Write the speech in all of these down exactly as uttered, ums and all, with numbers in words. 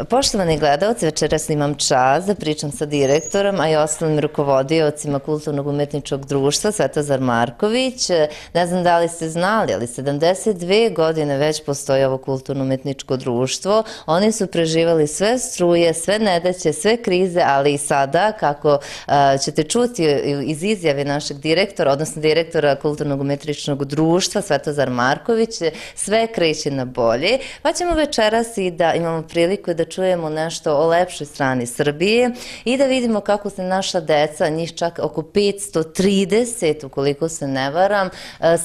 Poštovani gledalci, večeras imam čast da pričam sa direktorom, a i ostalim rukovodiocima Kulturnog umetničkog društva Svetozar Marković. Ne znam da li ste znali, ali sedamdeset dve godine već postoji ovo Kulturno umetničko društvo. Oni su preživali sve struje, sve nedaće, sve krize, ali i sada, kako ćete čuti iz izjave našeg direktora, odnosno direktora Kulturnog umetničkog društva Svetozar Marković, sve kreće na bolje. Pa ćemo večeras i da imamo priliku da čujemo nešto o lepšoj strani Srbije i da vidimo kako se naša deca, njih čak oko petsto trideset, ukoliko se ne varam,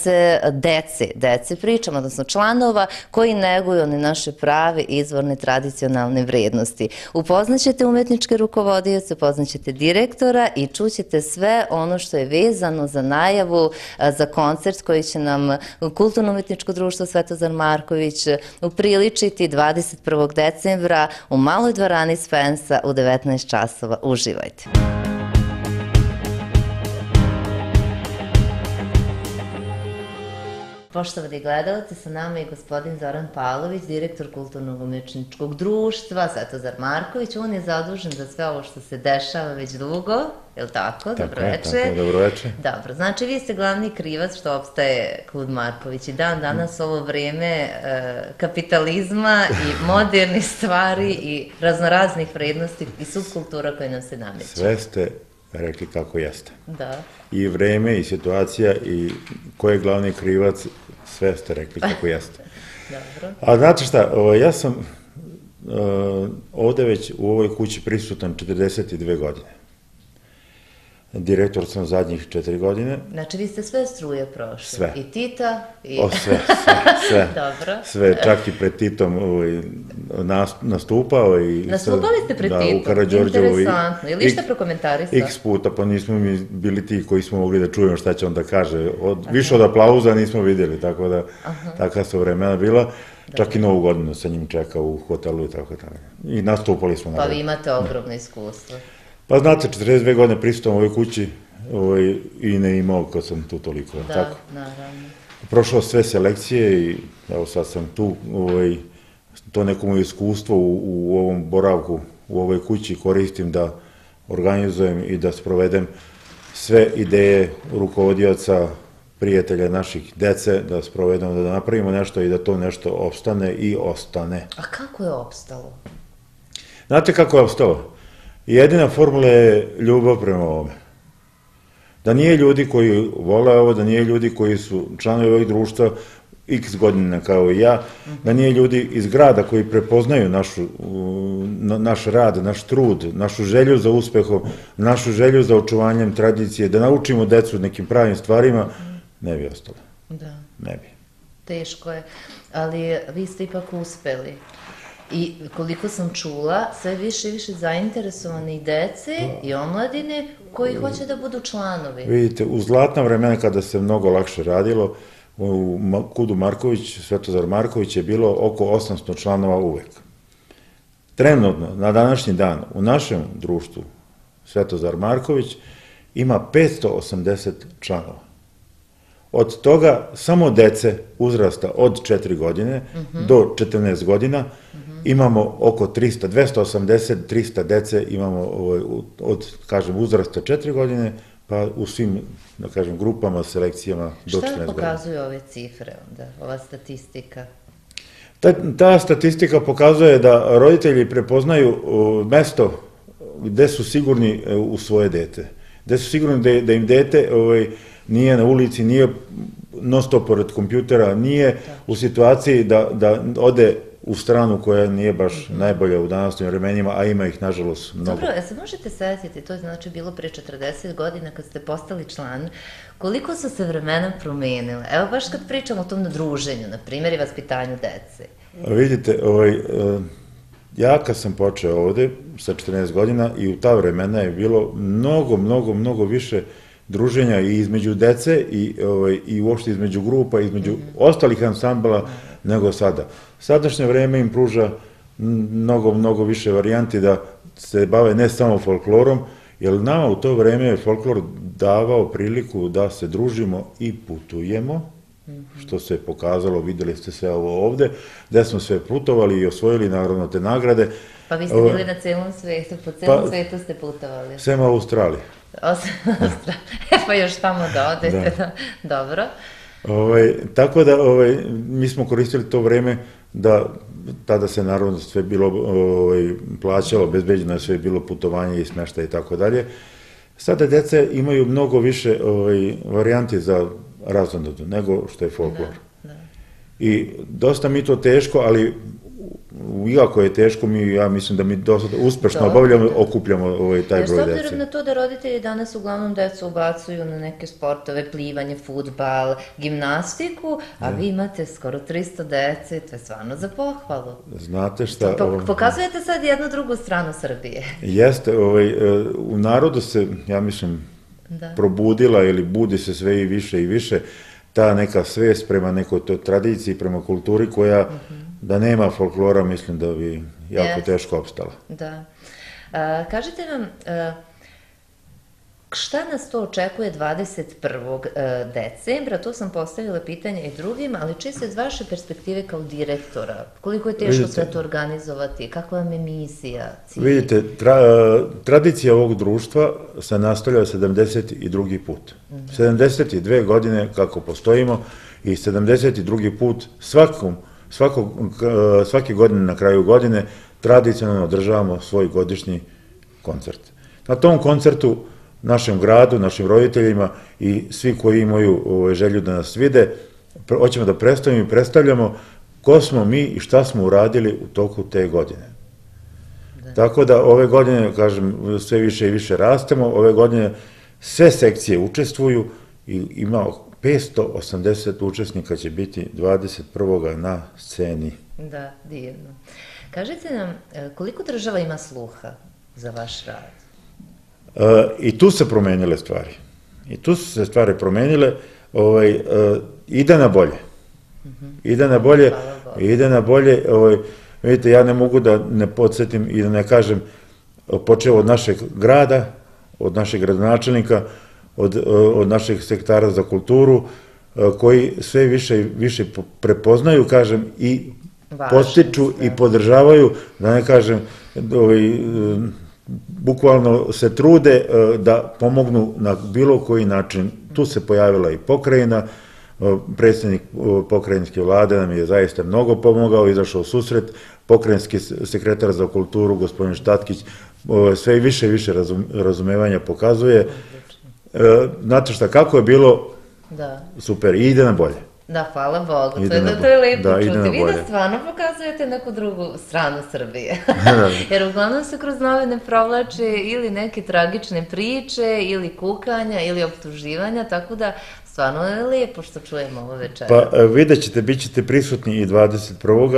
se dece, dece pričam, odnosno članova koji neguju one naše prave, izvorne, tradicionalne vrednosti. Upoznaćete umetničke rukovodioce, upoznaćete direktora i čućete sve ono što je vezano za najavu, za koncert koji će nam Kulturno umetničko društvo Svetozar Marković upriličiti dvadeset prvog decembra u maloj dvorani Spensa u devetnaest časova. Uživajte! Poštovani gledalci, sa nama je gospodin Zoran Pavlović, direktor Kulturnog umetničkog društva Svetozar Marković. On je zadužen za sve ovo što se dešava već dugo, je li tako? Dobroveče. Tako je, dobroveče. Dobro, znači vi ste glavni krivac što opstaje Klub Marković i dan danas ovo vreme kapitalizma i modernih stvari i raznoraznih vrednosti i subkultura koje nam se nameću. Sve ste rekli kako jeste. Da. I vreme i situacija i ko je glavni krivac, sve ste rekli kako jeste. Dobro. A znate šta, ja sam ovde već u ovoj kući prisutan četrdeset dve godine. Direktor sam zadnjih četiri godine. Znači vi ste sve struje prošli? Sve. I Tita? O, sve, sve, sve. Dobro. Sve, čak i pred Titom nastupao. Nastupali ste pred Titom? Da, u Karađorđevu. Interesantno. Ili šta prokomentarista? X puta, pa nismo mi bili ti koji smo mogli da čujemo šta će on da kaže. Više od aplauza nismo vidjeli, tako da takva su vremena bila. Čak i Novu godinu sa njim čekao u hotelu i tako tako. I nastupali smo. Pa vi imate ogromno iskustvo. Pa znate, četrdeset dve godine prisutom u ovoj kući i ne imao kad sam tu toliko. Da, naravno. Prošao sve selekcije i evo sad sam tu, to neko moje iskustvo u ovom boravku, u ovoj kući koristim da organizujem i da sprovedem sve ideje rukovodioca, prijatelja naših dece, da sprovedemo, da napravimo nešto i da to nešto opstane i ostane. A kako je opstalo? Znate kako je opstalo? Jedina formula je ljubav prema ovome. Da nije ljudi koji vole ovo, da nije ljudi koji su članovi ovih društva x godina kao i ja, da nije ljudi iz grada koji prepoznaju naš rad, naš trud, našu želju za uspehom, našu želju za očuvanjem tradicije, da naučimo decu nekim pravim stvarima, ne bi ostalo. Da. Ne bi. Teško je, ali vi ste ipak uspeli. I koliko sam čula, sve više i više zainteresovani dece i omladine koji hoće da budu članovi. Vidite, u zlatna vremena kada se mnogo lakše radilo, u Kudu Marković, Svetozar Marković je bilo oko osamsto članova uvek. Trenutno, na današnji dan, u našem društvu Svetozar Marković ima petsto osamdeset članova. Od toga samo dece uzrasta od četiri godine do četrnaest godina imamo oko trista, dvesta osamdeset do trista dece imamo od, kažem, uzrasta četiri godine, pa u svim, da kažem, grupama, selekcijama do četrnaest godina. Šta pokazuju ove cifre onda, ova statistika? Ta statistika pokazuje da roditelji prepoznaju mesto gde su sigurni u svoje dete. Gde su sigurni da im dete nije na ulici, nije non stop pored kompjutera, nije u situaciji da ode u stranu koja nije baš najbolja u današnjim vremenima, a ima ih, nažalost, mnogo. Dobro, ja se možete setiti, to je znači bilo pre četrdeset godina kad ste postali član, koliko su se vremena promenile? Evo baš kad pričamo o tom druženju, na primjer, i vaspitanju dece. Vidite, ja kad sam počeo ovde sa četrnaest godina i u ta vremena je bilo mnogo, mnogo, mnogo više druženja i između dece i uopšte između grupa, između ostalih ansambala nego sada. Sadašnje vreme im pruža mnogo, mnogo više varijanti da se bave ne samo folklorom, jer nama u to vreme je folklor davao priliku da se družimo i putujemo, što se pokazalo, videli ste sve ovo ovde, gde smo sve putovali i osvojili naravno te nagrade, Pa vi ste bili na celom svetu, po celom pa, svetu ste putovali. Sem Australije. Osim Australije, pa još tamo da odete, da. Dobro. Ovaj, tako da ovaj, mi smo koristili to vreme da tada se naravno sve bilo ovaj, plaćalo, obezbeđeno je sve bilo putovanje i smeštaj i tako dalje. Sada deca imaju mnogo više ovaj, varijanti za razonodu nego što je folklor. Da, da. I dosta mi to teško, ali iako je teško, mi, ja mislim da mi dosta uspešno obavljamo, okupljamo ovaj, taj broj dece. S obzirom na to da roditelji danas uglavnom decu ubacuju na neke sportove, plivanje, fudbal, gimnastiku, a vi imate skoro tristo dece, to je stvarno za pohvalu. Znate šta... Pokazujete sad jednu drugu stranu Srbije. Jeste, ovaj, u narodu se, ja mislim, probudila ili budi se sve i više i više ta neka svest prema nekoj toj tradiciji, prema kulturi koja da nema folklora, mislim da bi jako teško opstala. Da. Kažite nam, šta nas to očekuje dvadeset prvog decembra? To sam postavila pitanje i drugim, ali čisto iz vaše perspektive kao direktora, koliko je teško sve to organizovati, kakva vam je misija, cilj? Vidite, tradicija ovog društva se nastavlja sedamdeset drugi put. sedamdeset dve godine kako postojimo i sedamdeset drugi put svakom svake godine na kraju godine tradicionalno održavamo svoj godišnji koncert. Na tom koncertu našem gradu, našim roditeljima i svi koji imaju želju da nas vide, hoćemo da predstavimo i predstavljamo ko smo mi i šta smo uradili u toku te godine. Tako da ove godine, kažem, sve više i više rastemo, ove godine sve sekcije učestvuju i imamo petsto osamdeset učesnika će biti dvadeset prvog na sceni. Da, divno. Kažite nam, koliko država ima sluha za vaš rad? I tu se promenile stvari. I tu su se stvari promenile. Ide na bolje. Ide na bolje. Ide na bolje. Vidite, ja ne mogu da ne podsjetim i da ne kažem, počeo od našeg grada, od našeg gradonačelnika, od naših sektara za kulturu, koji sve više i više prepoznaju, kažem, i postiču i podržavaju, da ne kažem, bukvalno se trude da pomognu na bilo koji način. Tu se pojavila i pokrajina, predsjednik pokrajinske vlade nam je zaista mnogo pomogao, izašao u susret, pokrajinski sekretar za kulturu, gospodin Štatkić, sve više i više razumevanja pokazuje. Znate šta, kako je bilo, super, i ide na bolje. Da, hvala Bogu, to je lepo čuti. Vi da stvarno pokazujete neku drugu stranu Srbije. Jer uglavnom se kroz novine provlače ili neke tragične priče, ili kukanja, ili optuživanja, tako da stvarno je lepo što čujemo ovo večera. Pa vidjet ćete, bit ćete prisutni i dvadeset prvog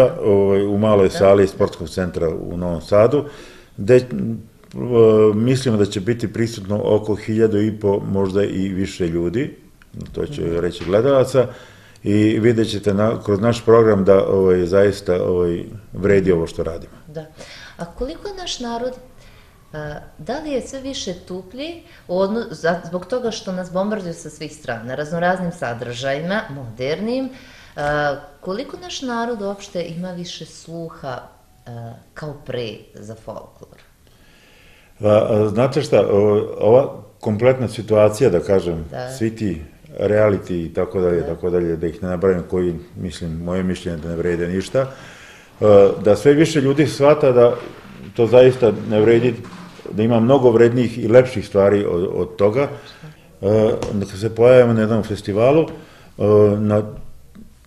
u maloj sali Sportskog centra u Novom Sadu, gde mislimo da će biti prisutno oko hiljadu i po, možda i više ljudi, to će reći gledalaca, i vidjet ćete kroz naš program da zaista vredi ovo što radimo. Da. A koliko je naš narod, da li je sve više tuplji zbog toga što nas bombarduju sa svih strana, raznoraznim sadržajima, modernim, koliko naš narod uopšte ima više sluha kao pre za folklor? Znate šta, ova kompletna situacija, da kažem, svi ti reality i tako dalje, tako dalje, da ih ne nabrajam, koji, mislim, moje mišljenje da ne vrede ništa, da sve više ljudi shvata da to zaista ne vredi, da ima mnogo vrednijih i lepših stvari od toga. Kad se pojavimo na jednom festivalu,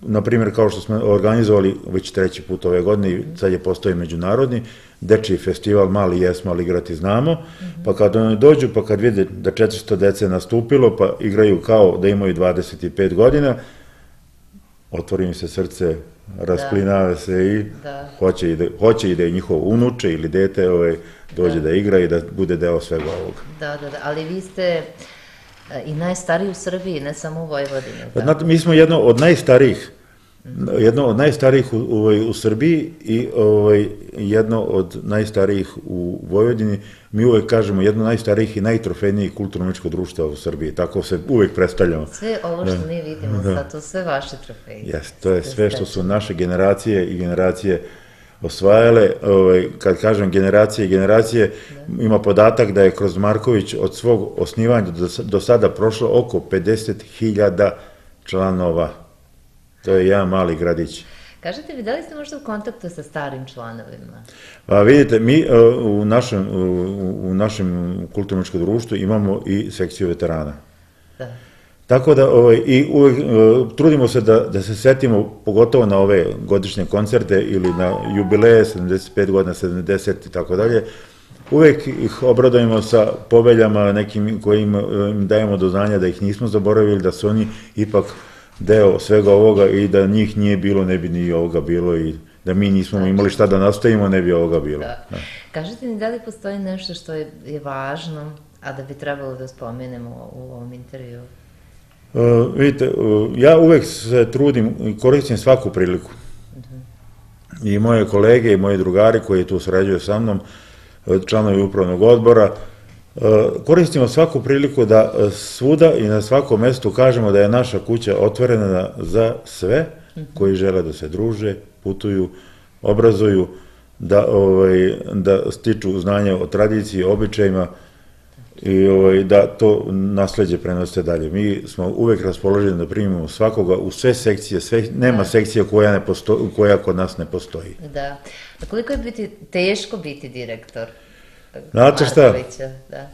na primjer kao što smo organizovali već treći put ove godine, sad je postoji međunarodni, dečiji festival, mali jesmo, ali igrati znamo, pa kad oni dođu, pa kad vide da četiristo dece nastupilo, pa igraju kao da imaju dvadeset pet godina, otvori mi se srce, rasplinave se i hoće i da je njihov unuče ili dete dođe da igra i da bude deo svega ovoga. Da, da, da, ali vi ste i najstariji u Srbiji, ne samo u Vojvodini. Znate, mi smo jedno od najstarijih, jedno od najstarijih u Srbiji i jedno od najstarijih u Vojvodini. Mi uvek kažemo jedno od najstarijih i najtrofejnijih kulturno-umetničko društva u Srbiji. Tako se uvek predstavljamo. Sve ovo što mi vidimo sad, to sve vaše trofeje. Jeste, to je sve što su naše generacije i generacije osvajale, ovaj, kad kažem generacije i generacije, ima podatak da je kroz Marković od svog osnivanja do, do sada prošlo oko pedeset hiljada članova. To je jedan mali gradić. Kažete vi, da li ste možda u kontaktu sa starim članovima? Pa vidite, mi u našem, u našem kulturno-umetničkom društvu imamo i sekciju veterana. Da. Tako da ovaj, i uvek trudimo se da, da se setimo, pogotovo na ove godišnje koncerte ili na jubileje, sedamdeset pet godina, sedamdeset i tako dalje, uvek ih obradujemo sa poveljama nekim kojim im dajemo do znanja da ih nismo zaboravili, da su oni ipak deo svega ovoga i da njih nije bilo, ne bi ni ovoga bilo i da mi nismo imali šta da nastavimo, ne bi ovoga bilo. Da. Da. Kažete mi, da li postoji nešto što je, je važno, a da bi trebalo da spomenemo u ovom intervju? Uh, vidite, uh, ja uvek se trudim i koristim svaku priliku. Uh-huh. I moje kolege i moji drugari koji tu sarađuju sa mnom, članovi upravnog odbora, uh, koristimo svaku priliku da svuda i na svakom mestu kažemo da je naša kuća otvorena za sve uh-huh. koji žele da se druže, putuju, obrazuju, da, ovaj, da stiču znanje o tradiciji, običajima, i ovaj, da to nasleđe prenose dalje. Mi smo uvek raspoloženi da primimo svakoga u sve sekcije, sve, nema sekcija koja, ne posto, koja kod nas ne postoji. Da. A koliko je biti, teško biti direktor Znate šta? Markovića? Da.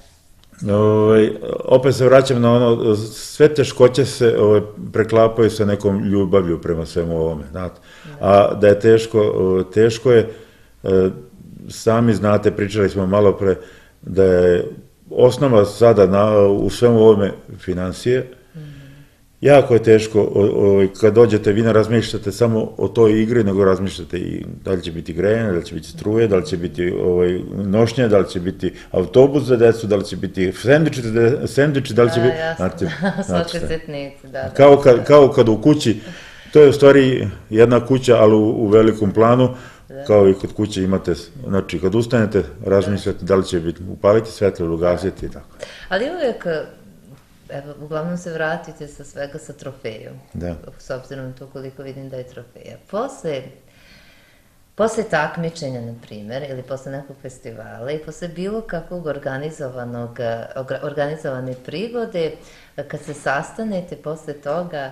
Ovaj, opet se vraćam na ono, sve teškoće se ovaj, preklapaju sa nekom ljubavlju prema svemu ovome, znate. A da je teško, teško je, sami znate, pričali smo malo pre, da je osnova sada na, u svemu ovome financije. Mm. Jako je teško, o, o, kad dođete, vi ne razmišljate samo o toj igri, nego razmišljate i da li će biti grejanje, da li će biti struje, da li će biti ovaj, nošnje, da li će biti autobus za decu, da li će biti sendviči, sendviči da li će da, biti... Jasno, znate, da, svake setnice, da, da. Kao kad, kao kad u kući, to je u stvari jedna kuća, ali u, u velikom planu, kao i kod kuće imate, znači kad ustanete, razmišljate da li će biti, upaliti svetlo ili ugasiti i tako. Ali uvijek, evo, uglavnom se vratite sa svega sa trofejom, da. S obzirom na to koliko vidim da je trofeja. Posle, posle takmičenja, na primjer, ili posle nekog festivala i posle bilo kakvog organizovanog, organizovane prigode, kad se sastanete posle toga,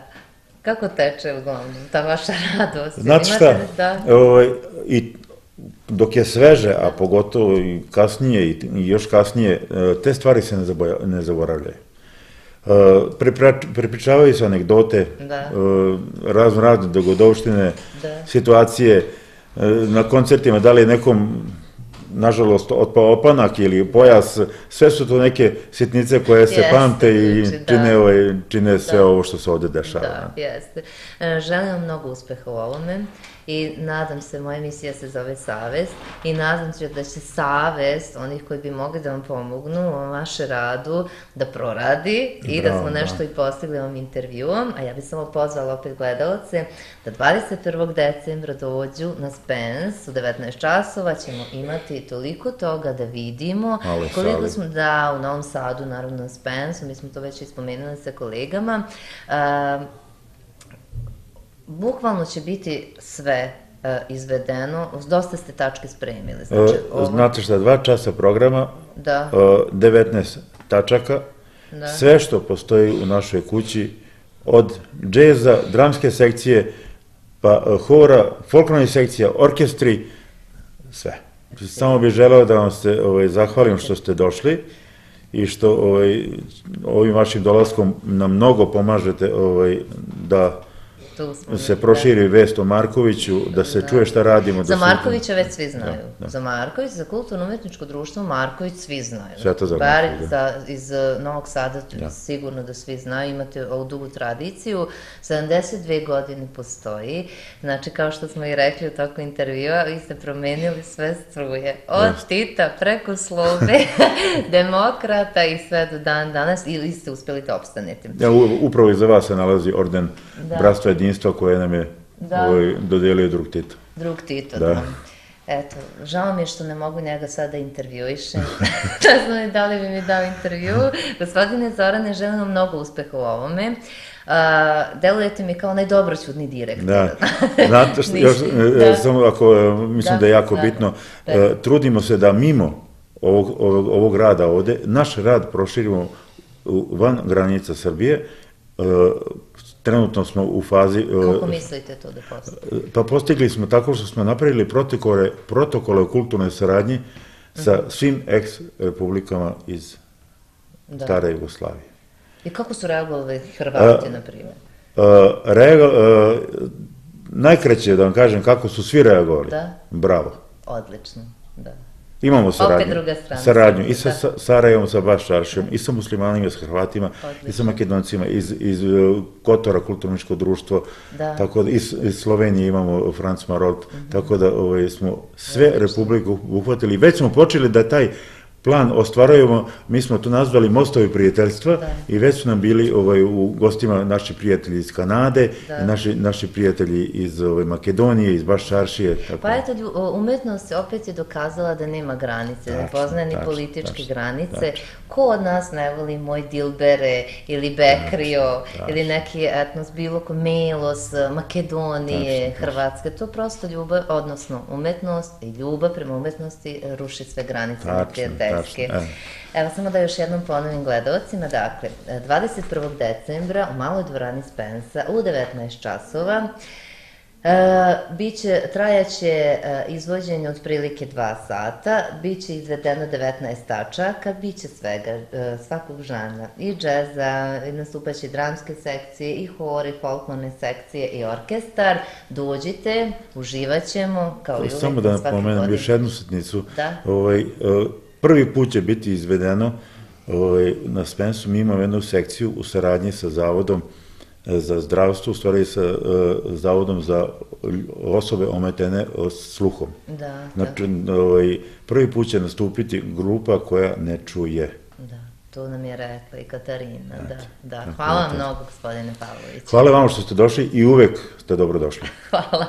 kako teče uglavnom ta vaša radost? Znate šta, da... ovaj, i dok je sveže, a pogotovo i kasnije i još kasnije, te stvari se ne, zaboja, ne zaboravljaju. Prepričavaju se anegdote, razno razne dogodovštine, da. Situacije, na koncertima, da li je nekom nažalost otpao opanak ili pojas, sve su to neke sitnice koje se jeste, pamte i znači, čine, da, ovaj, čine sve da, ovo što se ovde dešava. Da, jeste. Želim vam mnogo uspeha u ovome i nadam se, moja emisija se zove Savest i nadam se da će savest onih koji bi mogli da vam pomognu u ovom vaše radu da proradi i bravo, da smo nešto da. I postigli ovom intervjuom, a ja bih samo pozvala opet gledalce da dvadeset prvog decembra dođu na Spens u devetnaest časova, ćemo imati toliko toga da vidimo ali, koliko sali. Smo da u Novom Sadu, naravno na Spensu, mi smo to već ispomenuli sa kolegama, uh, bukvalno će biti sve uh, izvedeno, dosta ste tačke spremili. Znači, ovo... Znate šta, dva časa programa, da. uh, devetnaest tačaka, da. Sve što postoji u našoj kući, od džeza, dramske sekcije, pa uh, hora, folklornih sekcija, orkestri, sve. Samo bih želeo da vam se ovaj, zahvalim što ste došli i što ovaj, ovim vašim dolaskom nam mnogo pomažete ovaj, da se proširi vest o Markoviću, da se čuje šta radimo. Za Markovića već svi znaju. Za Marković, za kulturno-umetničko društvo Marković svi znaju. Sveto za Marković. Bar iz Novog Sada sigurno da svi znaju, imate ovu dugu tradiciju, sedamdeset dve godine postoji, znači kao što smo i rekli u toku intervjua, vi ste promenili sve struje, od Tita preko Slobe, demokrata i sve do dan danas, ili ste uspeli da opstanete. Upravo iza vas se nalazi orden Bratstva jedinstva koje nam je dodelio drug Tito. Drug Tito, da. Eto, žao mi je što ne mogu njega sada intervjuišem. Ne znam da li bi mi dao intervju. Gospodine Zorane, želim vam mnogo uspeha u ovome. Delujete mi kao najdobroćudni direktor. Da, znate što, još, samo ako, mislim da je jako bitno, trudimo se da mimo ovog, ovog, ovog rada ovde, naš rad proširimo van granica Srbije. Trenutno smo u fazi... Kako mislite to da postigli? Pa postigli smo tako što smo napravili protokole, protokole o kulturnoj saradnji sa svim ex-republikama iz stare Jugoslavije. I kako su reagovali Hrvati, na primjer? Najkraće da vam kažem kako su svi reagovali. Bravo. Odlično, da. Imamo saradnju i sa Sarajevom, sa Baščaršijom, i sa muslimanima, i sa Hrvatima, i sa Makedoncima, iz Kotora, kulturničko društvo, iz Slovenije imamo Franc Marolt, tako da smo sve republike uhvatili. Već smo počeli da taj plan ostvarujemo, mi smo to nazvali Mostovi prijateljstva i već su nam bili u gostima naši prijatelji iz Kanade, naši prijatelji iz Makedonije, iz Baščaršije. Pa eto, umetnost opet je dokazala da nema granice, ne poznaje ni političke granice. Ko od nas ne voli Moj Dilbere ili Bekrio ili neki etnos, bilo ko Melos, Makedonije, Hrvatske, to prosto ljubav, odnosno umetnost i ljubav prema umetnosti ruši sve granice neprijateljstva. Evo, samo da još jednom ponovim gledalcima, dakle, dvadeset prvog decembra u Maloj dvorani Spensa u devetnaest časova trajaće izvođenje otprilike dva sata, bit će izvedeno devetnaest tačaka, bit će svega, svakog žanra, i džeza, i nastupaće dramske sekcije, i hor, i folklorne sekcije, i orkestar. Dođite, uživat ćemo, kao i uvek. Samo da napomenem još jednu sitnicu. Prvi put će biti izvedeno na Spensu, mi imamo jednu sekciju u saradnji sa Zavodom za zdravstvo, u stvari sa Zavodom za osobe ometene sluhom. Znači, prvi put će nastupiti grupa koja ne čuje. Da, to nam je rekla i Katarina, da. Hvala vam mnogo, gospodine Pavlović. Hvala vam što ste došli i uvek ste dobro došli. Hvala.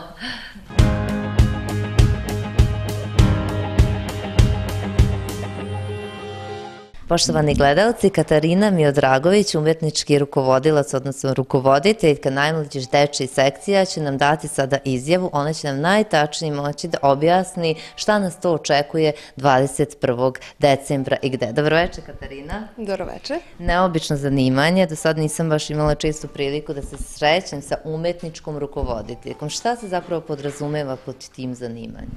Poštovani gledalci, Katarina Miodragović, umetnički rukovodilac, odnosno rukovoditeljka najmlađih dečjih sekcija, će nam dati sada izjavu. Ona će nam najtačnije moći da objasni šta nas to očekuje dvadeset prvog decembra i gde. Dobroveče, Katarina. Dobroveče. Neobično zanimanje. Do sad nisam baš imala čestu priliku da se srećem sa umetničkom rukovoditeljkom. Šta se zapravo podrazumeva pod tim zanimanjem?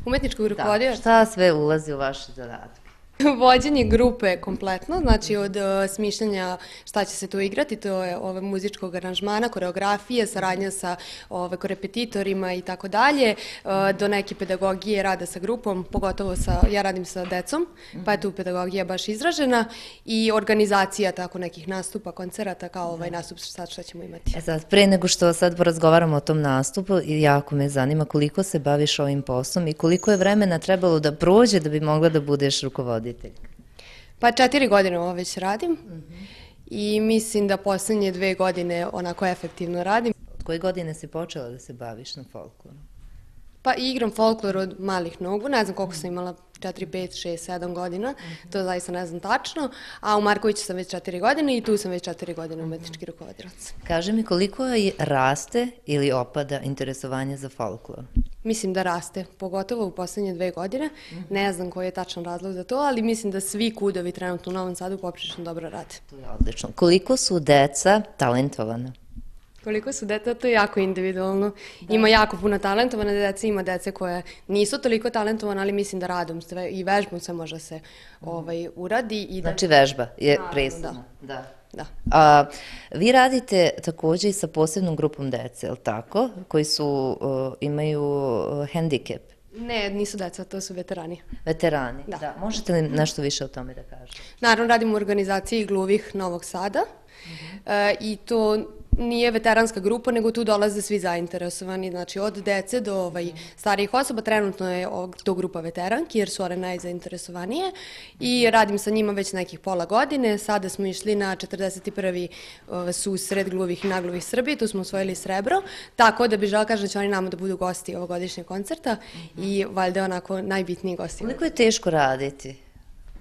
Umetničkog rukovodioca? Šta sve ulazi u vaše zadatke? Vođenje grupe kompletno, znači od smišljanja šta će se tu igrati, to je muzičkog aranžmana, koreografije, saradnja sa korepetitorima i tako dalje, do neke pedagogije rada sa grupom, pogotovo ja radim sa decom, pa je tu pedagogija baš izražena, i organizacija tako nekih nastupa, koncerata, kao ovaj nastup sad što ćemo imati. E sad, pre nego što sad porazgovaramo o tom nastupu, jako me zanima koliko se baviš ovim poslom i koliko je vremena trebalo da prođe da bi mogla da budeš rukovoditelj. Pa četiri godine ovo već radim i mislim da poslednje dve godine onako efektivno radim. Od koje godine si počela da se baviš na folkloru? Pa igram folklor od malih nogu, ne znam koliko sam imala, četiri, pet, šest, sedam godina, to zaista ne znam tačno, a u Markoviću sam već četiri godine i tu sam već četiri godine umetnički rukovodilac. Kaži mi, koliko raste ili opada interesovanje za folklor? Mislim da raste, pogotovo u poslednje dve godine. Ne znam koji je tačan razlog za to, ali mislim da svi kudovi trenutno u Novom Sadu poprilično dobro rade. To je odlično. Koliko su deca talentovana? Koliko su deca, to je jako individualno. Ima jako puno talentovane dece, ima dece koje nisu toliko talentovane, ali mislim da radom i vežbom sve može se uradi. Znači vežba je presudna. Da. Vi radite takođe i sa posebnom grupom dece, je li tako? Koji imaju hendikep? Ne, nisu deca, to su veterani. Veterani, da. Možete li nešto više o tome da kažete? Naravno, radim u organizaciji Gluvih Novog Sada i to nije veteranska grupa, nego tu dolaze svi zainteresovani, znači od dece do starijih osoba. Trenutno je to grupa veteranki, jer su one najzainteresovanije i radim sa njima već nekih pola godine. Sada smo išli na četrdeset prvi susret Gluvih i Nagluvih Srbije, tu smo osvojili srebro, tako da bi žela kažem da će oni nama da budu gosti ovogodišnjeg koncerta i valjda onako najbitniji gosti. Koliko je teško raditi,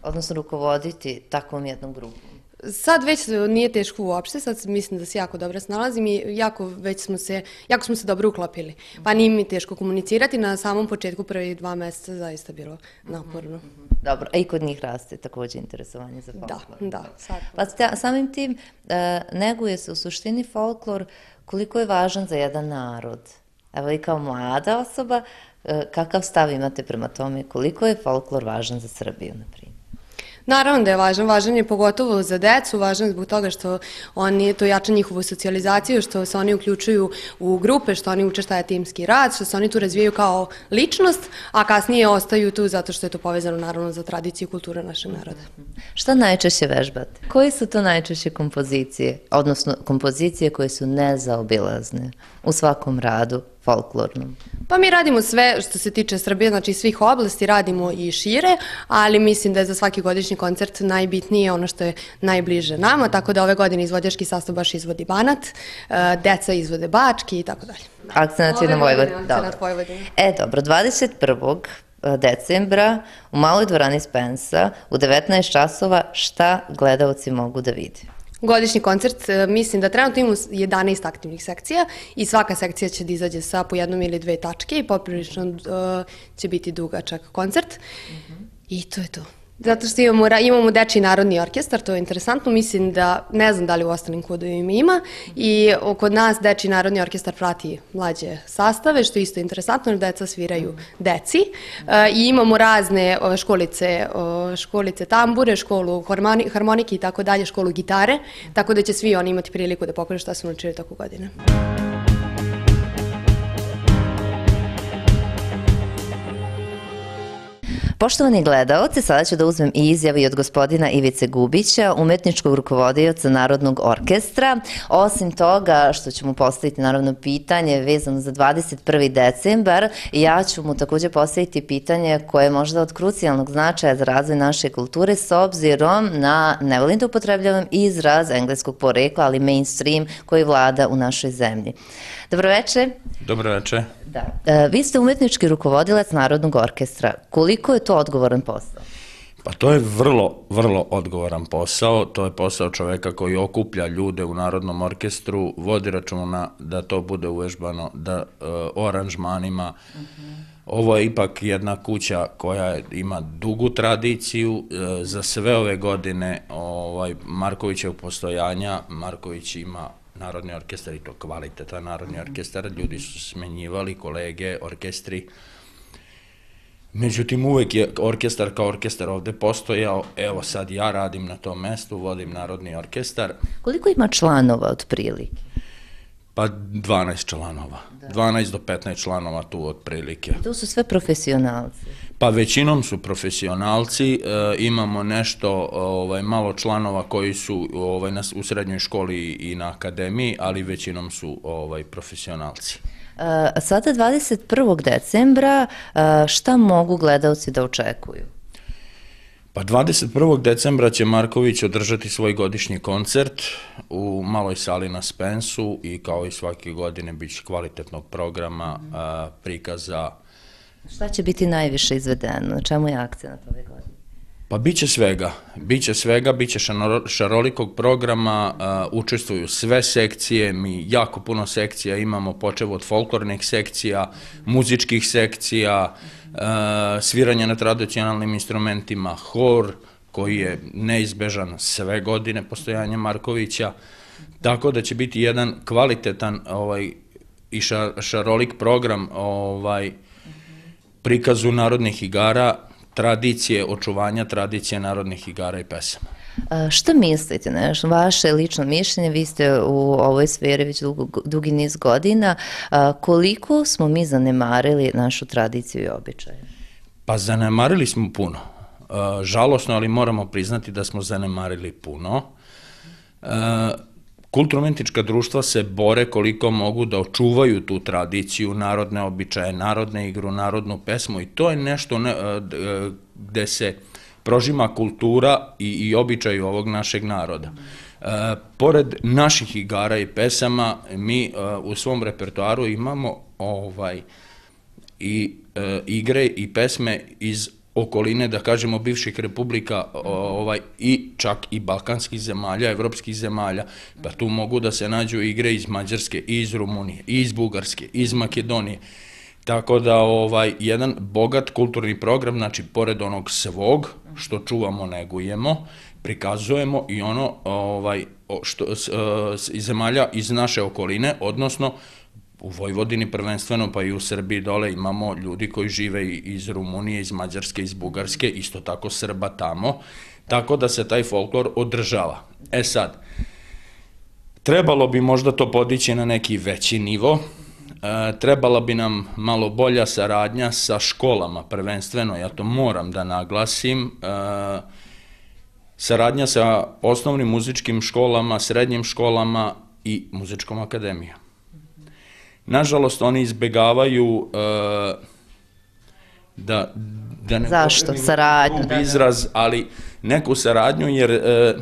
odnosno rukovoditi takvom jednom grupom? sad već nije teško uopšte, sad mislim da se jako dobro snalazim i jako već smo se, jako smo se dobro uklopili. Pa nije mi teško komunicirati, na samom početku prvih dva meseca zaista bilo naporno. Dobro, a i kod njih raste takođe interesovanje za folklor. Da, da. Sad. Pa sta- samim tim e, neguje se u suštini folklor koliko je važan za jedan narod. Evo i kao mlada osoba, e, kakav stav imate prema tome, koliko je folklor važan za Srbiju, na primjer? Naravno da je važan, važan je pogotovo za decu, važan je zbog toga što oni, to jača njihovu socijalizaciju, što se oni uključuju u grupe, što oni uče šta je timski rad, što se oni tu razvijaju kao ličnost, a kasnije ostaju tu zato što je to povezano naravno za tradiciju i kulturu našeg naroda. Šta najčešće vežbate? Koji su to najčešće kompozicije, odnosno kompozicije koje su nezaobilazne u svakom radu folklornom? Pa mi radimo sve što se tiče Srbije, znači svih oblasti, radimo i šire, ali mislim da je za svaki godišnji koncert najbitnije ono što je najbliže nama, tako da ove godine izvođački sastav baš izvodi Banat, e, deca izvode Bački i tako dalje. Akcenat je na Vojvodini. Akcenat Vojvodini. E, dobro, dvadeset prvog decembra u maloj dvorani Spensa u devetnaest časova šta gledaoci mogu da vide? Godišnji koncert, e, mislim da trenutno imamo jedanaest aktivnih sekcija i svaka sekcija će da izađe sa po jednom ili dve tačke i poprilično e, će biti dugačak koncert. I to je to. Zato što imamo, ra- imamo Dečiji narodni orkestar, to je interesantno, mislim da, ne znam da li u ostalim kodovima ima, i o- kod nas Dečiji narodni orkestar prati mlađe sastave, što je isto interesantno, jer deca sviraju deci. E, I imamo razne o, školice, o, školice tambure, školu harmoni- harmonike i tako dalje, školu gitare, tako da će svi oni imati priliku da pokažu šta su naučili toku godine. Poštovani gledaoci, sada ću da uzmem i izjavi od gospodina Ivice Gubića, umetničkog rukovodioca Narodnog orkestra. Osim toga što ću mu postaviti naravno pitanje vezano za dvadeset prvi decembar, ja ću mu takođe postaviti pitanje koje je možda od krucijalnog značaja za razvoj naše kulture s obzirom na, ne volim da upotrebljavam izraz engleskog porekla, ali mainstream koji vlada u našoj zemlji. Dobroveče. Dobroveče. Da. E, vi ste umetnički rukovodilac Narodnog orkestra. Koliko je to odgovoran posao? Pa to je vrlo, vrlo odgovoran posao. To je posao čoveka koji okuplja ljude u Narodnom orkestru, vodi računa da to bude uvežbano, da e, o aranžmanima. Ovo je ipak jedna kuća koja ima dugu tradiciju. E, za sve ove godine ovaj, Markovićev postojanja, Marković ima Narodni orkestar i to kvalitetan Narodni orkestar, ljudi su smenjivali, kolege, orkestri. Međutim, uvek je orkestar kao orkestar ovde postojao, evo sad ja radim na tom mestu, vodim Narodni orkestar. Koliko ima članova otprilike? Pa dvanaest članova, dvanaest do petnaest članova tu otprilike. To su sve profesionalci. Pa većinom su profesionalci, e, imamo nešto ovaj, malo članova koji su ovaj, na, u srednjoj školi i na akademiji, ali većinom su ovaj, profesionalci. E, sada dvadeset prvog decembra e, šta mogu gledaoci da očekuju? Pa dvadeset prvog decembra će Marković održati svoj godišnji koncert u maloj sali na Spensu i kao i svake godine bit će kvalitetnog programa, a, prikaza. Šta će biti najviše izvedeno? Na čemu je akcenat ove godine? Pa bit će svega, bit će svega, bit će šanoro- šarolikog programa, a, učestvuju sve sekcije, mi jako puno sekcija imamo, počev od folklornih sekcija, muzičkih sekcija, a, sviranje na tradicionalnim instrumentima, hor, koji je neizbežan sve godine postojanja Markovića, tako da će biti jedan kvalitetan ovaj, i ša, šarolik program ovaj, prikazu narodnih igara, tradicije, očuvanja tradicije narodnih igara i pesama. A, šta mislite, nešto, vaše lično mišljenje, vi ste u ovoj sferi već dugo, dugi niz godina, a, koliko smo mi zanemarili našu tradiciju i običaje? Pa zanemarili smo puno. E, žalosno, ali moramo priznati da smo zanemarili puno. E, Kulturno-umetnička društva se bore koliko mogu da očuvaju tu tradiciju, narodne običaje, narodne igru, narodnu pesmu i to je nešto ne, gde se prožima kultura i, i običaj ovog našeg naroda. E, pored naših igara i pesama, mi e, u svom repertoaru imamo ovaj, i e, igre i pesme iz okoline, da kažemo, bivših republika ovaj, i čak i balkanskih zemalja, evropskih zemalja, pa tu mogu da se nađu igre iz Mađarske, i iz Rumunije, i iz Bugarske, i iz Makedonije. Tako da ovaj, jedan bogat kulturni program, znači pored onog svog, što čuvamo, negujemo, prikazujemo i ono ovaj, što, iz zemalja iz naše okoline, odnosno u Vojvodini prvenstveno, pa i u Srbiji dole imamo ljudi koji žive iz Rumunije, iz Mađarske, iz Bugarske, isto tako Srba tamo, tako da se taj folklor održava. E sad, trebalo bi možda to podići na neki veći nivo, e, trebala bi nam malo bolja saradnja sa školama prvenstveno, ja to moram da naglasim, e, saradnja sa osnovnim muzičkim školama, srednjim školama i muzičkom akademijom. Nažalost, oni izbegavaju uh, da, da ne Zašto? Saradnju. izraz, ali neku saradnju, jer uh,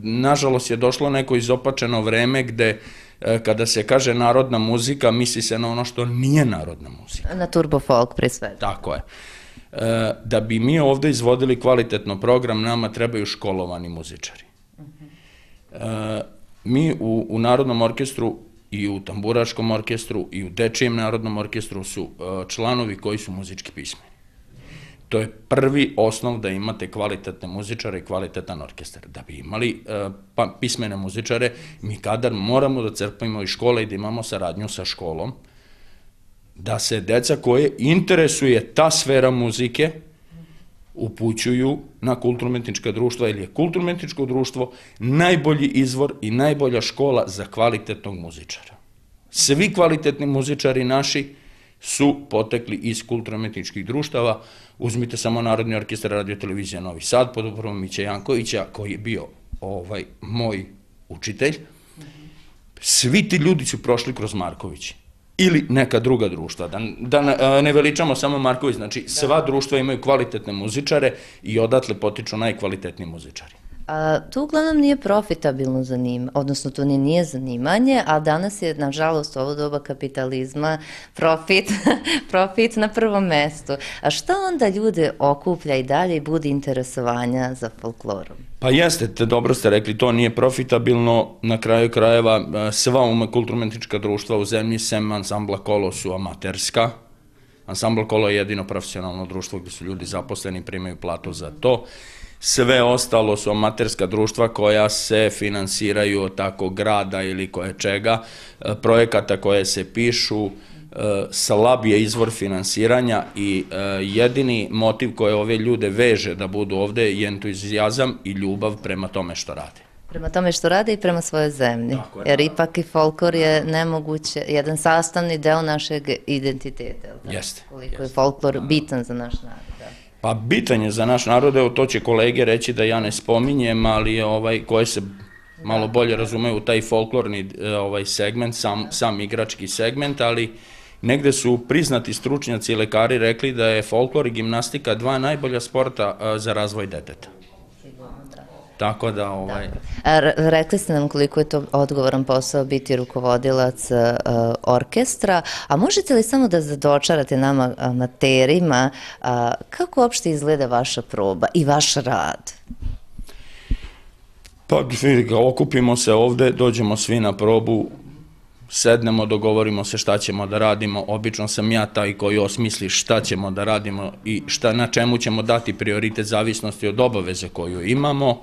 nažalost je došlo neko izopačeno vreme gde uh, kada se kaže narodna muzika, misli se na ono što nije narodna muzika. Na turbo folk pre svega. Tako je. Uh, da bi mi ovde izvodili kvalitetno program, nama trebaju školovani muzičari. Uh, mi u, u Narodnom orkestru i u tamburaškom orkestru i u dečijem narodnom orkestru su članovi koji su muzički pismeni. To je prvi osnov da imate kvalitetne muzičare i kvalitetan orkestar. Da bi imali pa, pismene muzičare, mi kadar moramo da crpimo iz škole i da imamo saradnju sa školom, da se deca koje interesuje ta sfera muzike upućuju na kulturno-umetnička društva, ili je kulturno-umetničko društvo najbolji izvor i najbolja škola za kvalitetnog muzičara. Svi kvalitetni muzičari naši su potekli iz kulturno-umetničkih društava. Uzmite samo Narodni orkestar Radio televizija Novi Sad pod upravom Miće Jankovića, koji je bio ovaj moj učitelj. Svi ti ljudi su prošli kroz Marković ili neka druga društva. Da, da ne veličamo samo Marković, znači sva društva imaju kvalitetne muzičare i odatle potiču najkvalitetniji muzičari. A, to uglavnom nije profitabilno zanimanje, odnosno to ne nije zanimanje, a danas je, nažalost, ovo doba kapitalizma, profit, profit na prvom mestu. A šta onda ljude okuplja i dalje i budi interesovanja za folklorom? Pa jeste, te dobro ste rekli, to nije profitabilno, na kraju krajeva sva kulturno-umetnička društva u zemlji, sem ansambla Kolo, su amaterska. Ansambl Kolo je jedino profesionalno društvo gde su ljudi zaposleni i primaju platu za to. Sve ostalo su amaterska društva koja se finansiraju od tako grada ili koje čega, projekata koje se pišu, slab je izvor finansiranja i jedini motiv koje ove ljude veže da budu ovde je entuzijazam i ljubav prema tome što rade. Prema tome što rade i prema svojoj zemlji, jer ipak i folklor je nemoguće, jedan sastavni deo našeg identiteta. Jeste. Koliko je folklor bitan za naš narod. Pa bitan je za naš narod, evo to će kolege reći da ja ne spominjem, ali ovaj, koje se malo bolje razumeju u taj folklorni ovaj, segment, sam, sam igrački segment, ali negde su priznati stručnjaci i lekari rekli da je folklor i gimnastika dva najbolja sporta za razvoj deteta. Tako da, ovaj... Rekli ste nam koliko je to odgovoran posao biti rukovodilac orkestra, a možete li samo da zadočarate nama amaterima kako uopšte izgleda vaša proba i vaš rad? Pa, okupimo se ovde, dođemo svi na probu, sednemo, dogovorimo se šta ćemo da radimo. Obično sam ja taj koji osmisli šta ćemo da radimo i šta, na čemu ćemo dati prioritet zavisnosti od obaveze koju imamo.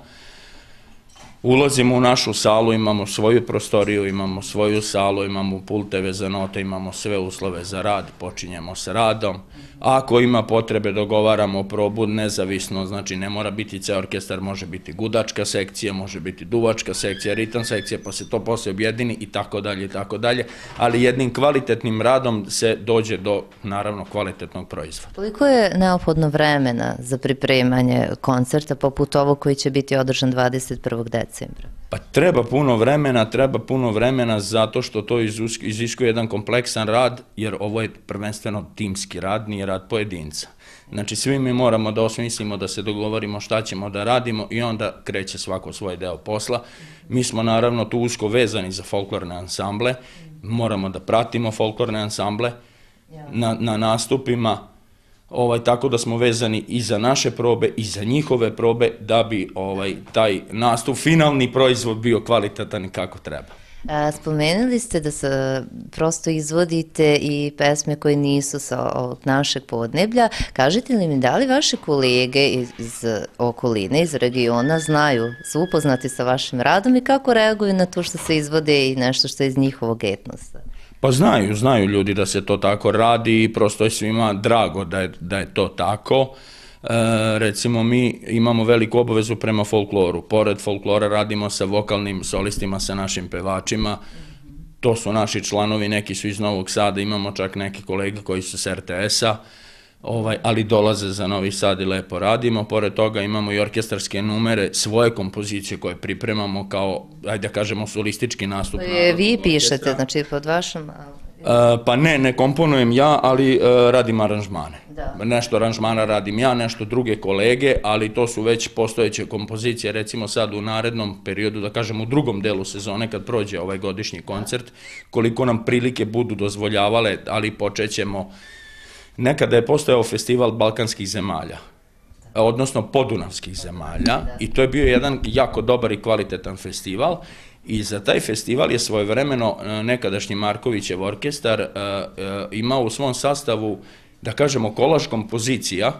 Ulazimo u našu salu, imamo svoju prostoriju, imamo svoju salu, imamo pulteve za note, imamo sve uslove za rad, počinjemo s radom. Ako ima potrebe, dogovaramo probu nezavisno, znači ne mora biti ceo orkestar, može biti gudačka sekcija, može biti duvačka sekcija, ritam sekcija, pa se to posle objedini i tako dalje i tako dalje, ali jednim kvalitetnim radom se dođe do, naravno, kvalitetnog proizvoda. Koliko je neophodno vremena za pripremanje koncerta poput ovog koji će biti održan dvadeset prvog decembra? Pa treba puno vremena, treba puno vremena zato što to iziskuje jedan kompleksan rad, jer ovo je prvenstveno timski rad, nije rad pojedinca. Znači, svi mi moramo da osmislimo, da se dogovorimo šta ćemo da radimo i onda kreće svako svoj deo posla. Mi smo naravno tu usko vezani za folklorne ansamble, moramo da pratimo folklorne ansamble na, na nastupima. ovaj, tako da smo vezani i za naše probe i za njihove probe da bi ovaj, taj nastup, finalni proizvod bio kvalitetan i kako treba. A, spomenuli ste da se prosto izvodite i pesme koje nisu sa ovog našeg podneblja. Kažete li mi da li vaše kolege iz, iz okoline, iz regiona znaju, su upoznati sa vašim radom i kako reaguju na to što se izvode i nešto što je iz njihovog etnosa? Pa znaju, znaju ljudi da se to tako radi i prosto je svima drago da je, da je to tako. E, recimo mi imamo veliku obavezu prema folkloru. Pored folklora radimo sa vokalnim solistima, sa našim pevačima. To su naši članovi, neki su iz Novog Sada, imamo čak neki kolege koji su s er te es-a, ovaj, ali dolaze za Novi Sad i lepo radimo. Pored toga imamo i orkestarske numere, svoje kompozicije koje pripremamo kao, ajde da kažemo, solistički nastup. Koje vi pišete, znači pod vašom... Uh, pa ne, ne komponujem ja, ali uh, radim aranžmane. Da. Nešto aranžmana radim ja, nešto druge kolege, ali to su već postojeće kompozicije, recimo sad u narednom periodu, da kažem u drugom delu sezone kad prođe ovaj godišnji koncert, koliko nam prilike budu dozvoljavale, ali počećemo. Nekada je postojao festival balkanskih zemalja, odnosno podunavskih zemalja, i to je bio jedan jako dobar i kvalitetan festival. I za taj festival je svojevremeno nekadašnji Markovićev orkestar uh, uh, imao u svom sastavu, da kažemo, kolaž kompozicija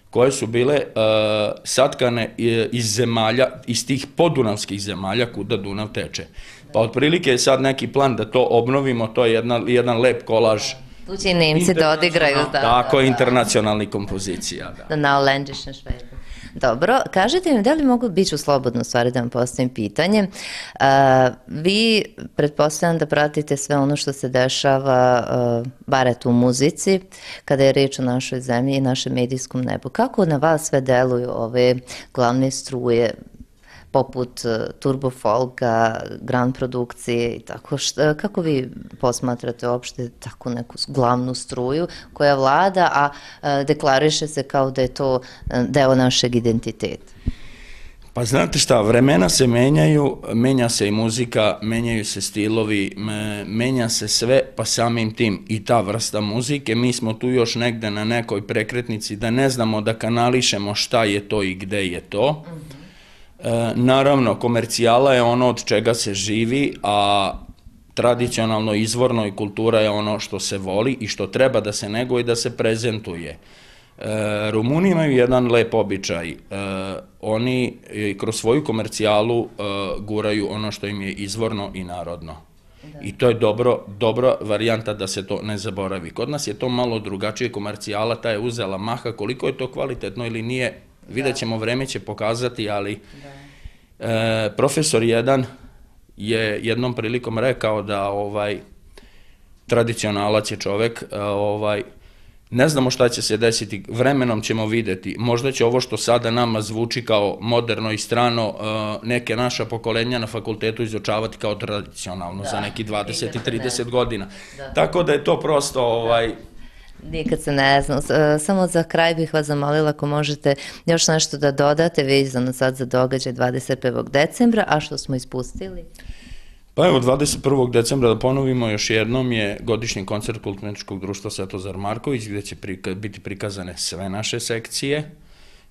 koje su bile uh, satkane iz zemalja, iz tih podunavskih zemalja kuda Dunav teče. Pa otprilike je sad neki plan da to obnovimo, to je jedna, jedan lep kolaž. Tu će i Nemci da odigraju. Da, tako, da, da. internacionalni kompozicija. Da, da naolendišne švejbe. Dobro, kažete mi da li mogu, bit ću slobodno u stvari da vam postavim pitanje, a, vi pretpostavljam da pratite sve ono što se dešava, a, bar eto u muzici, kada je reč o našoj zemlji i našem medijskom nebu. Kako na vas sve deluju ove glavne struje, poput turbo folka, grand produkcije i tako, šta, kako vi posmatrate uopšte tako neku glavnu struju koja vlada, a, a deklariše se kao da je to deo našeg identiteta? Pa znate šta, vremena se menjaju, menja se i muzika, menjaju se stilovi, menja se sve, pa samim tim i ta vrsta muzike. Mi smo tu još negde na nekoj prekretnici da ne znamo da kanališemo šta je to i gde je to. E, naravno, komercijala je ono od čega se živi, a tradicionalno, izvorno i kultura je ono što se voli i što treba da se neguje i da se prezentuje. E, Rumuni imaju jedan lep običaj. E, oni kroz svoju komercijalu e, guraju ono što im je izvorno i narodno. Da. I to je dobro, dobra varijanta da se to ne zaboravi. Kod nas je to malo drugačije, komercijala ta je uzela maha, koliko je to kvalitetno ili nije, vidjet ćemo, vreme će pokazati, ali e, profesor jedan je jednom prilikom rekao da ovaj tradicionalac je čovek, ovaj, ne znamo šta će se desiti, vremenom ćemo videti, možda će ovo što sada nama zvuči kao moderno i strano, neke naša pokolenja na fakultetu izučavati kao tradicionalno da, za neki dvadeset i trideset godina. Da. Tako da je to prosto... Ovaj, nikad se ne znam. Samo za kraj bih vas zamolila ako možete još nešto da dodate vezano sad za događaj dvadeset prvog decembra, a što smo ispustili? Pa evo, dvadeset prvog decembra, da ponovimo još jednom, je godišnji koncert Kulturno-umetničkog društva Svetozar Marković, gde će prika, biti prikazane sve naše sekcije.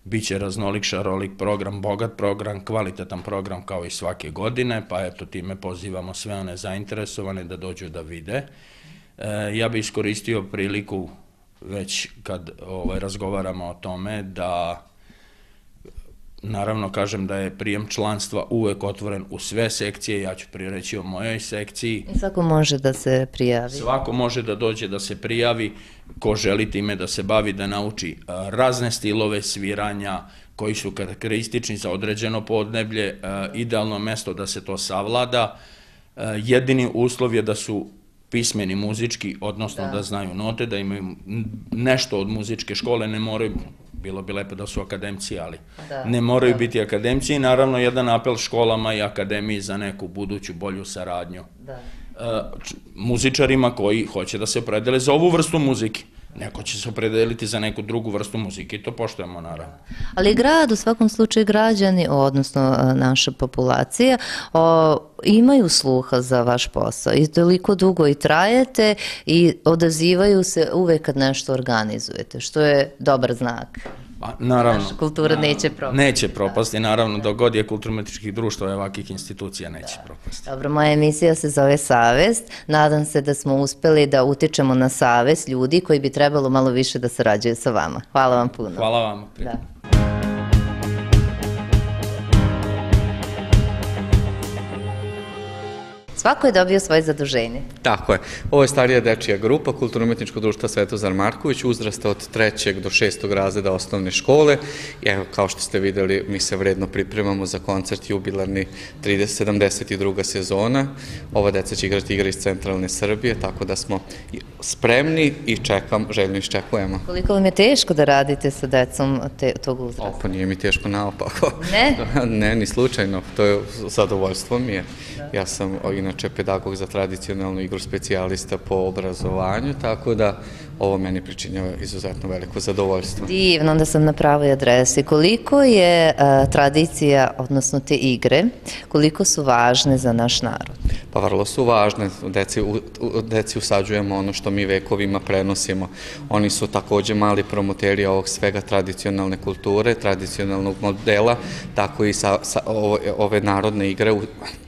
Biće raznolik, šarolik program, bogat program, kvalitetan program kao i svake godine, pa eto time pozivamo sve one zainteresovane da dođu da vide. E, ja bih iskoristio priliku, već kad ovaj, razgovaramo o tome, da naravno kažem da je prijem članstva uvek otvoren u sve sekcije, ja ću prije reći o mojoj sekciji. I svako može da se prijavi. Svako može da dođe da se prijavi, ko želi time da se bavi, da nauči razne stilove sviranja koji su karakteristični za određeno podneblje, idealno mesto da se to savlada. Jedini uslov je da su pismeni muzički, odnosno da, da znaju note, da imaju nešto od muzičke škole, ne moraju, bilo bi lepo da su akademci, ali da, ne moraju da. biti akademci, i naravno jedan apel školama i akademiji za neku buduću bolju saradnju. Da. Uh, muzičarima koji hoće da se opredele za ovu vrstu muzike. Neko će se opredeliti za neku drugu vrstu muzike i to poštujemo naravno. Ali grad, u svakom slučaju građani, odnosno naša populacija, o, imaju sluha za vaš posao i toliko dugo i trajete i odazivaju se uvek kad nešto organizujete, što je dobar znak. Pa, naravno. Naša kultura neće propasti. Neće propasti, naravno, dok god je kulturno-umetničkih društva i ovakvih institucija neće propasti. Dobro, moja emisija se zove Savest. Nadam se da smo uspeli da utičemo na savest ljudi koji bi trebalo malo više da sarađuju sa vama. Hvala vam puno. Hvala vam. Da. Svako je dobio svoje zaduženje. Tako je. Ovo je starija dečija grupa Kulturno-umetničkog društva Svetozar Marković, uzrasta od trećeg do šestog razreda osnovne škole. I evo, kao što ste videli, mi se vredno pripremamo za koncert jubilarni sedamdeset druga sezona. Ova deca će igrati igre iz centralne Srbije, tako da smo spremni i čekam, željno iščekujemo. Koliko vam je teško da radite sa decom te, tog uzrasta? Opa, nije mi teško naopako. Ne? Ne, ni slučajno. To je zadovoljstvo mi je. Ja sam inače pedagog za tradicionalnu igru, specijalista po obrazovanju, tako da ovo meni pričinjava izuzetno veliko zadovoljstvo. Divno, onda sam na pravoj adresi. Koliko je a, tradicija, odnosno te igre, koliko su važne za naš narod? Pa vrlo su važne. Deci, u, u, deci usađujemo ono što mi vekovima prenosimo. Oni su takođe mali promoteri ovog svega tradicionalne kulture, tradicionalnog modela, tako i sa, sa ove, ove narodne igre u,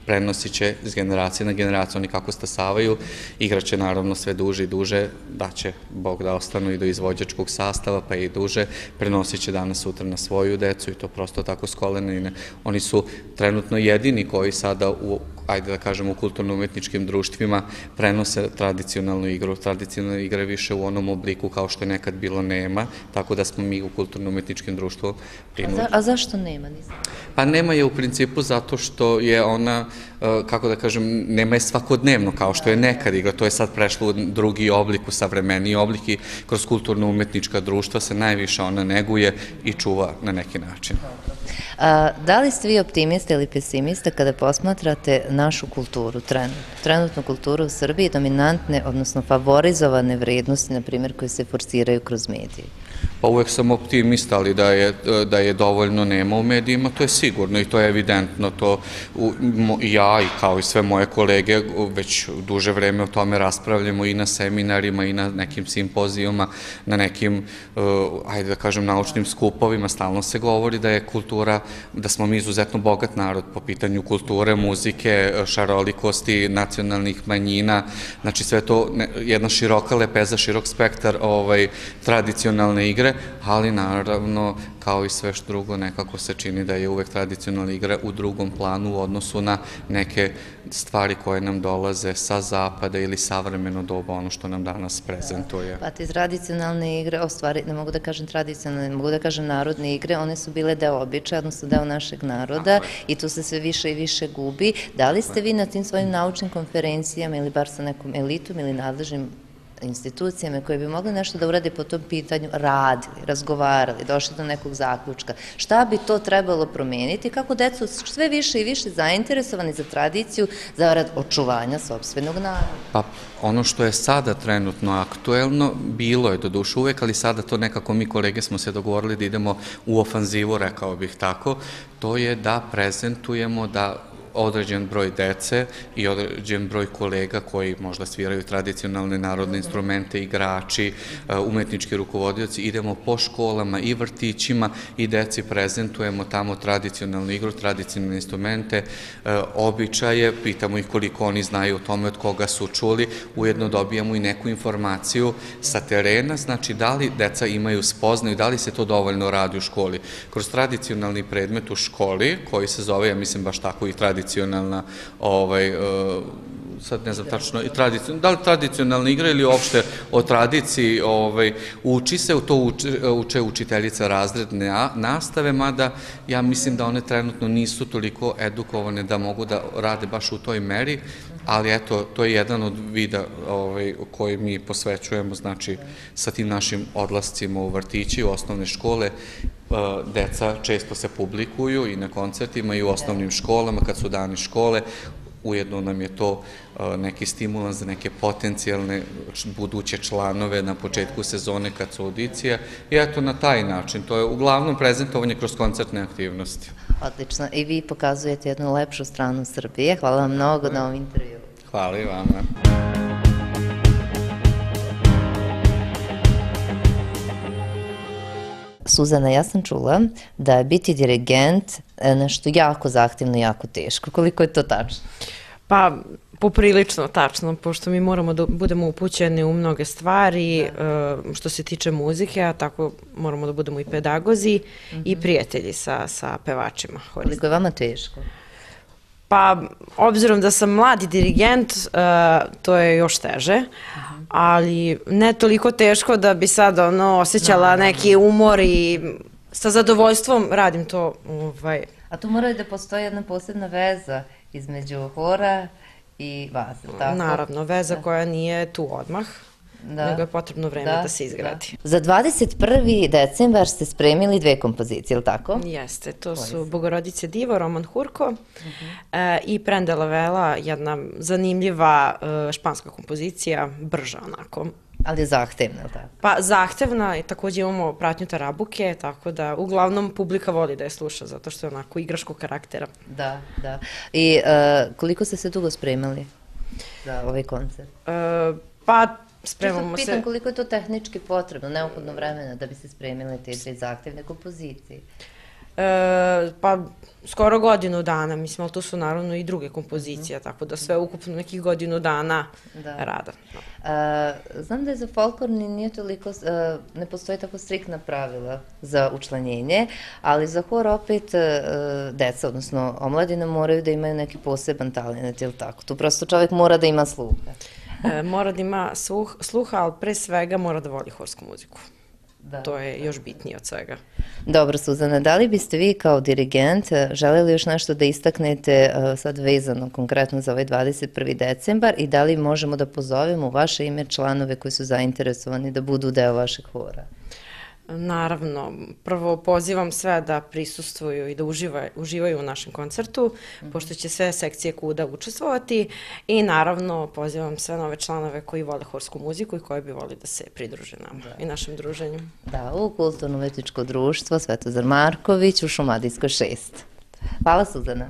prenosit će iz generacije na generaciju, oni kako stasavaju, igraće naravno sve duže i duže, da će Bog da ostanu i do izvođačkog sastava, pa i duže, prenosit će danas sutra na svoju decu i to prosto tako s kolena. Oni su trenutno jedini koji sada u, ajde da kažemo, u kulturno-umetničkim društvima prenose tradicionalnu igru. Tradicionalna igra više u onom obliku kao što je nekad bilo nema, tako da smo mi u kulturno-umetničkim društvu prinuđeni. A, za, a zašto nema? Nisam. Pa nema je u principu zato što je ona, kako da kažem, nema je svakodnevno kao što je nekad igra. To je sad prešlo u drugi oblik, u savremeniji oblik i kroz kulturno-umetnička društva se najviše ona neguje i čuva na neki način. A, da li ste vi optimista ili pesimista kada posmatrate našu kulturu, trenutno, trenutnu kulturu u Srbiji, dominantne, odnosno favorizovane vrednosti, na primjer, koje se forsiraju kroz medije? Pa uvek sam optimista, ali da je, da je dovoljno nema u medijima, to je sigurno i to je evidentno. To u, ja i kao i sve moje kolege već duže vreme o tome raspravljamo i na seminarima i na nekim simpozijama, na nekim, uh, ajde da kažem, naučnim skupovima. Stalno se govori da je kultura, da smo mi izuzetno bogat narod po pitanju kulture, muzike, šarolikosti, nacionalnih manjina. Znači sve to ne, jedna široka lepeza, širok spektar ovaj, tradicionalne igre, ali naravno, kao i sve što drugo, nekako se čini da je uvek tradicionalna igra u drugom planu u odnosu na neke stvari koje nam dolaze sa zapada ili savremeno doba, ono što nam danas prezentuje. Pa te tradicionalne igre, o stvari, ne mogu da kažem tradicionalne, ne mogu da kažem narodne igre, one su bile deo običaja, odnosno deo našeg naroda i tu se sve više i više gubi. Da li ste vi na tim svojim naučnim konferencijama ili bar sa nekom elitom ili nadležnim institucijama koje bi mogli nešto da urade po tom pitanju, radili, razgovarali, došli do nekog zaključka? Šta bi to trebalo promeniti? Kako decu sve više i više zainteresovani za tradiciju, za rad očuvanja sopstvenog naroda? Pa ono što je sada trenutno aktuelno, bilo je do duše uvek, ali sada to nekako mi kolege smo se dogovorili da idemo u ofanzivu, rekao bih tako, to je da prezentujemo, da određen broj dece i određen broj kolega koji možda sviraju tradicionalne narodne instrumente, igrači, umetnički rukovodioci, idemo po školama i vrtićima i deci prezentujemo tamo tradicionalnu igru, tradicionalne instrumente, običaje, pitamo ih koliko oni znaju o tome, od koga su čuli, ujedno dobijamo i neku informaciju sa terena, znači da li deca imaju spoznaju, da li se to dovoljno radi u školi. Kroz tradicionalni predmet u školi, koji se zove, ja mislim baš tako i tradicionalna tradicionalna, ovaj, sad ne znam tačno, da li tradicionalna igra ili uopšte o tradiciji, ovaj, uči se, u to uče, uče učiteljica razredne nastave, mada ja mislim da one trenutno nisu toliko edukovane da mogu da rade baš u toj meri, ali eto, to je jedan od vida ovaj, koji mi posvećujemo, znači, sa tim našim odlascima u vrtići, u osnovne škole. Deca često se publikuju i na koncertima i u osnovnim školama, kad su dani škole, ujedno nam je to neki stimulans za neke potencijalne buduće članove na početku sezone kad su audicije i eto na taj način, to je uglavnom prezentovanje kroz koncertne aktivnosti. Odlično, i vi pokazujete jednu lepšu stranu Srbije. Hvala vam mnogo na ovom intervju. Hvala i vama. Suzana, ja sam čula da je biti dirigent nešto jako zahtevno i jako teško. Koliko je to tačno? Pa, poprilično tačno, pošto mi moramo da budemo upućeni u mnoge stvari što se tiče muzike, a tako moramo da budemo i pedagozi i prijatelji sa pevačima. Koliko je vama teško? Pa, obzirom da sam mladi dirigent, to je još teže, ali ne toliko teško da bi sad osjećala neki umor i sa zadovoljstvom radim to. A tu mora da postoji jedna posebna veza između hora i vas, tako? Naravno, veza koja nije tu odmah, nego je potrebno vreme da se izgradi. Za dvadeset prvi decembar ste spremili dve kompozicije, ili tako? Jeste, to su Bogorodice Divo, Roman Hurko i Prendela Vela, jedna zanimljiva španska kompozicija, brža onako. Ali je zahtevna, ili tako? Pa zahtevna i također imamo pratnju tarabuke, tako da uglavnom publika voli da je sluša, zato što je onako igraškog karaktera. Da, da. I koliko ste se dugo spremali za ovaj koncert? Pa spremamo se... Pitam koliko je to tehnički potrebno, neophodno vremena da bi se spremile te dve zahtevne kompozicije? Pa skoro godinu dana, mislim, ali to su naravno i druge kompozicije, tako da sve ukupno nekih godinu dana rada. Znam da je za folklorni nije toliko, ne postoji tako striktna pravila za učlanjenje, ali za hor opet deca, odnosno omladina, moraju da imaju neki poseban talent, ili tako? Tu prosto čovjek mora da ima sluha. Mora da ima sluha, ali pre svega mora da voli horsku muziku. To je još bitnije od svega. Dobro, Suzana, da li biste vi kao dirigent želeli još nešto da istaknete sad vezano konkretno za ovaj dvadeset prvi decembar i da li možemo da pozovemo u vaše ime članove koji su zainteresovani da budu deo vašeg hora? Naravno, prvo pozivam sve da prisustvuju i da uživaju u našem koncertu, pošto će sve sekcije kuda učestvovati i naravno pozivam sve nove članove koji vole horsku muziku i koji bi voli da se pridruže nama i našem druženju. Da, u Kulturno-umetničko društvo Svetozar Marković u Šumadijskoj šest. Hvala, Suzana.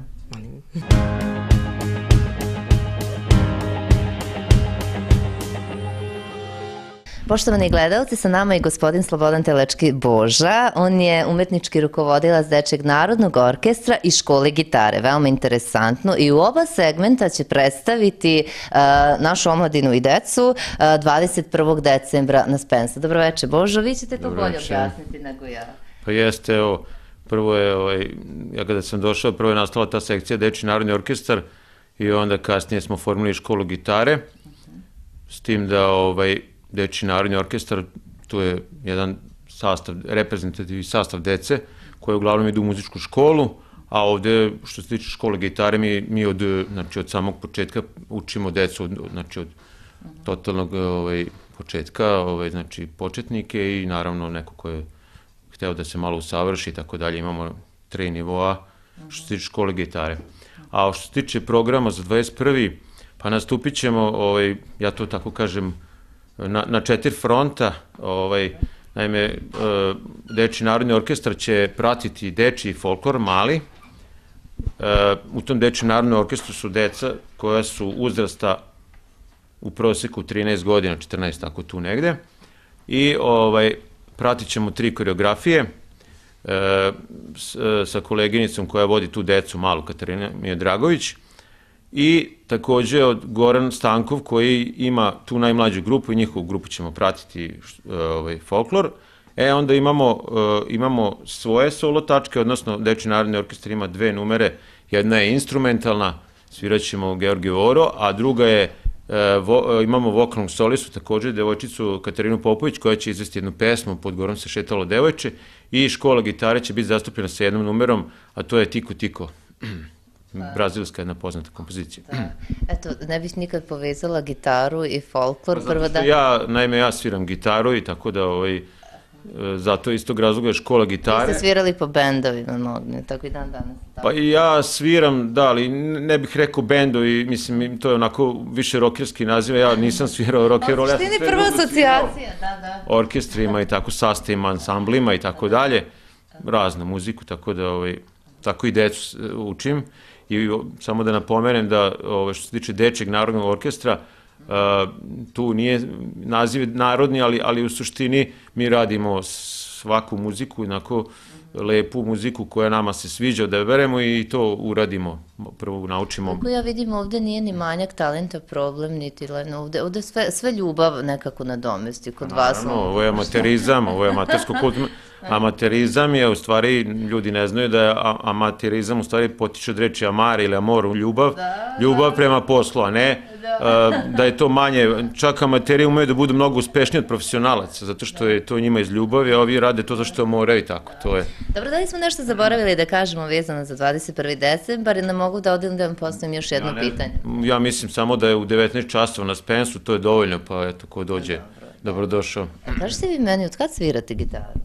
Poštovani gledalci, sa nama je gospodin Slobodan Telečki Boža. On je umetnički rukovodilac Dečijeg narodnog orkestra i škole gitare. Veoma interesantno. I u oba segmenta će predstaviti našu omladinu i decu dvadeset prvog decembra na Spensu. Dobro večer, Božo. Vi ćete to bolje objasniti nego ja. Pa jeste, evo, prvo je, ja kada sam došao, prvo je nastala ta sekcija Dečiji narodni orkestar i onda kasnije smo formili školu gitare, s tim da, ovaj, Dečiji narodni orkestar, to je jedan sastav, reprezentativni sastav dece koji uglavnom idu u muzičku školu, a ovde, što se tiče škole gitare, mi od samog početka učimo decu, znači od totalnog početka, znači početnike i naravno neko ko je hteo da se malo usavrši i tako dalje. Imamo tri nivoa što se tiče škole gitare. A što se tiče programa za dvadeset prvi pa nastupit ćemo, ja to tako kažem, na četiri fronta. Naime, Dečiji narodni orkestar će pratiti dečiji folklor mali. U tom Dečijem narodnom orkestru su deca koja su uzrasta u proseku trinaest godina, četrnaest, tako tu negde. I pratit ćemo tri koreografije sa koleginicom koja vodi tu decu malu, Katarina Miodragović. I takođe od Goran Stankov koji ima tu najmlađu grupu i njihovu grupu ćemo pratiti folklor. E onda imamo svoje solo tačke, odnosno Dečiji narodni orkestar ima dve numere, jedna je instrumentalna, svirat ćemo Georgiju Oro, a druga je, imamo vokalnog solistu takođe, devojčicu Katarinu Popović koja će izvesti jednu pesmu Pod gorom se šetalo devojče i škola gitare će biti zastupljena sa jednom numerom, a to je Tiko Tiko. Brazilska jedna poznata kompozicija. Eto, ne bih nikad povezala gitaru i folklor. Naime, ja sviram gitaru i tako da zato iz tog razloga je škola Vi gitare. ste svirali po bendovima mnogim, tako i dan danas. Pa i ja sviram, da, ali ne bih rekao bendovi, mislim, to je onako više rokerski naziv, ja nisam svirao rock and roll. U suštini prva asocijacija, da, da. Orkestrima i tako, sastavima, ansamblima i tako dalje, raznu muziku, tako da, ovaj, tako i decu učim. I samo da napomenem da, ovaj, što se tiče Dečeg narodnog orkestra, Uh, tu nije naziv narodni, ali, ali u suštini mi radimo svaku muziku, jednako lepu muziku koja nama se sviđa da beremo i to uradimo, prvo naučimo. Kako ja vidim, ovde nije ni manjak talenta problem, niti leno, ovde, ovde sve, sve ljubav nekako nadomesti kod vas. Naravno, ovo je amaterizam, ovo je amatersko kultno. Amaterizam je, u stvari, ljudi ne znaju da je amaterizam u stvari potiče od reči amare ili amor, ljubav, ljubav prema poslu, a ne da je to manje. Čak amateri umeju da budu mnogo uspešniji od profesionalaca, zato što je to njima iz ljubavi, a ovi rade to zašto moraju i tako, to je. Dobro, da li smo nešto zaboravili da kažemo vezano za dvadeset prvi decembar i ne mogu da odem da vam postavim još jedno pitanje? Ja mislim samo da je u devetnaest časova na Spensu, to je dovoljno, pa eto, ko dođe, dobrodošao. Kažete vi meni, od kad svirate gitaru?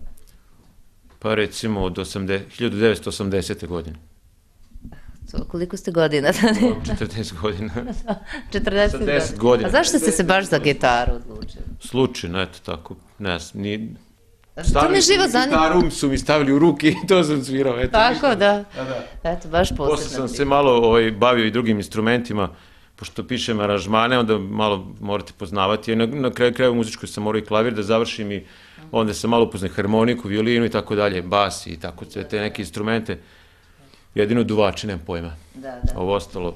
Pa recimo od hiljadu devetsto osamdesete. godine. Koliko ste godina? četrdeset godina. četrdeset godina. A zašto ste se baš za gitaru odlučili? Slučajno, eto tako, ne znam, ni... To me živo zanima. Gitaru su mi stavili u ruke i to sam svirao, eto. Tako, da. Eto, baš posebno. Posle sam se malo bavio i drugim instrumentima, pošto pišem aranžmane, onda malo morate poznavati. Na kraju kraju muzičkoj sam morao i klavir da završim i onda sam malo upoznao harmoniku, violinu i tako dalje, bas i tako, te neke instrumente. Jedino duvači, nemam pojma. Ovo ostalo.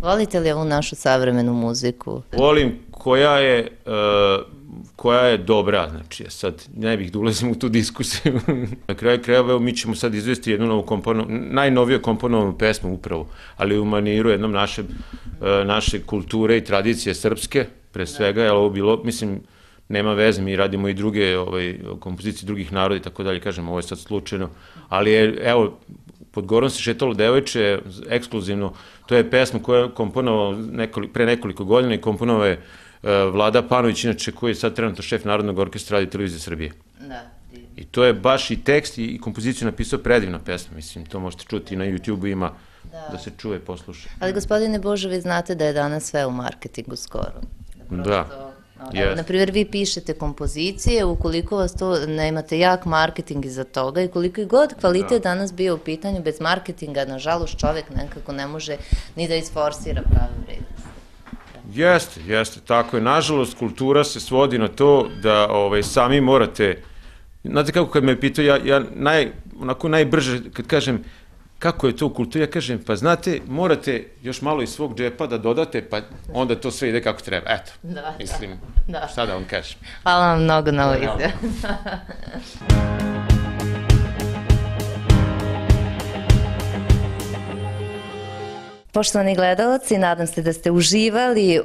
Volite li ovu našu savremenu muziku? Volim koja je, koja je dobra, znači, sad ne bih da ulazim u tu diskusiju. Na kraju krajeva, mi ćemo sad izvesti jednu novu komponovanu, najnoviju komponovanu pesmu upravo, ali u maniru jednom naše, naše kulture i tradicije srpske, pre svega, je ovo bilo, mislim, nema veze, mi radimo i druge kompozicije drugih naroda i tako dalje, kažem, ovo je sad slučajno, ali je, evo, Pod Gorom se šetalo devojče, ekskluzivno, to je pesma koja je komponovao pre nekoliko godina i komponovao je Vlada Panović, inače koji je sad trenutno šef Narodnog orkestra Radio Televizije Srbije. I to je baš i tekst i kompoziciju napisao predivna pesma, mislim, to možete čuti i na YouTube-u ima da se čuje, posluša. Ali gospodine Božo, vi znate da je danas sve u marketingu skoro. Da. Naprimjer, vi pišete kompozicije, ukoliko vas to nemate jak marketing iza toga i koliko i god kvalitet danas bio u pitanju, bez marketinga, nažalost, čovek nekako ne može ni da isforsira pravu vrednost. Jeste, jeste, tako je. Nažalost, kultura se svodi na to da sami morate, znate kako kad me pitaju, ja onako najbrže kad kažem kako je to u kulturi, ja kažem, pa znate, morate još malo iz svog džepa da dodate, pa onda to sve ide kako treba. Eto, mislim, šta da vam kažem. Hvala vam mnogo na ovo izjavu. Poštovani gledalci, nadam se da ste uživali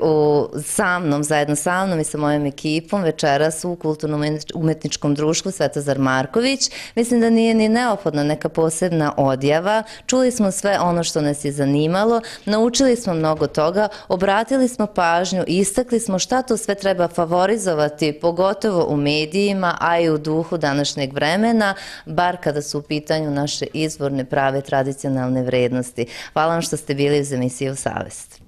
sa mnom, zajedno sa mnom i sa mojom ekipom večeras u Kulturno-umetničkom društvu Svetozar Marković. Mislim da nije ni neophodna neka posebna odjava. Čuli smo sve ono što nas je zanimalo, naučili smo mnogo toga, obratili smo pažnju, istakli smo šta to sve treba favorizovati, pogotovo u medijima, a i u duhu današnjeg vremena, bar kada su u pitanju naše izvorne, prave, tradicionalne vrednosti. Hvala vam što ste bili uz emisiju Savest.